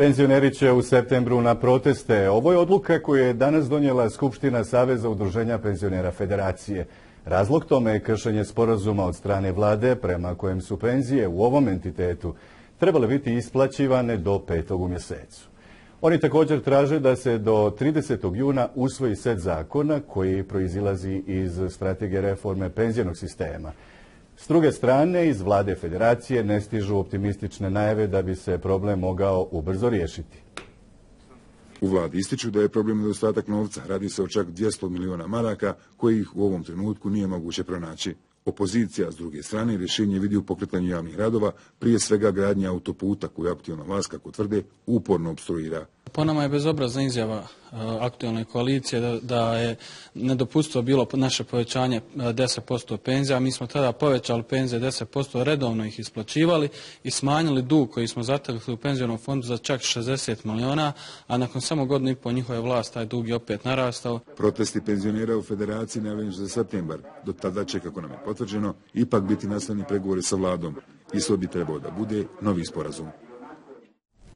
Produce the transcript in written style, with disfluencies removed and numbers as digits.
Penzioneri će u septembru na proteste. Ovo je odluka koju je danas donijela Skupština Saveza udruženja penzionera Federacije. Razlog tome je kršenje sporazuma od strane vlade prema kojem su penzije u ovom entitetu trebale biti isplaćivane do 5. u mjesecu. Oni također traže da se do 30. juna usvoji set zakona koji proizilazi iz strategije reforme penzionog sistema. S druge strane, iz vlade Federacije ne stižu optimistične najave da bi se problem mogao ubrzo riješiti. U vladi ističu da je problem nedostatak novca. Radi se o čak 200 miliona maraka kojih u ovom trenutku nije moguće pronaći. Opozicija, s druge strane, rješenje vidi u pokretanju javnih radova, prije svega gradnje autoputa koju aktualna vlast, kako tvrde, uporno opstruira. Po nama je bezobrazna izjava aktualne koalicije da je nedopustivo bilo naše povećanje 10% penzija. Mi smo tada povećali penzije 10%, redovno ih isplaćivali i smanjili dug koji smo zatekli u penzionom fondu za čak 60 miliona, a nakon samo godinu i pol njihove vlasti taj dug je opet narastao. Protesti penzionera u Federaciji najavljeni za septembar. Do tada će, kako nam je potvrđeno, ipak biti nastavni pregovori sa vladom. Ishod bi trebao da bude novi sporazum.